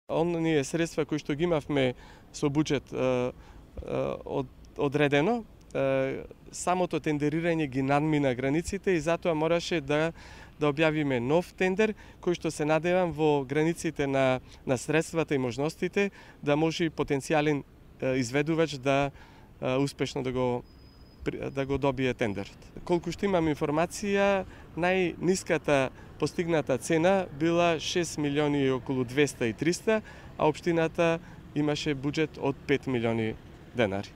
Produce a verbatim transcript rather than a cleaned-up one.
Оние средства кои што ги имавме со буџет е, е, од, одредено, е, самото тендерирање ги надмина границите и затоа мораше да да објавиме нов тендер кој што се надевам во границите на на средствата и можностите да може потенцијален изведувач да е, успешно да го да го добие тендерот. Колку што имам информација, најниската постигната цена била шест милиони и околу двесте и триста, а општината имаше буџет од пет милиони денари.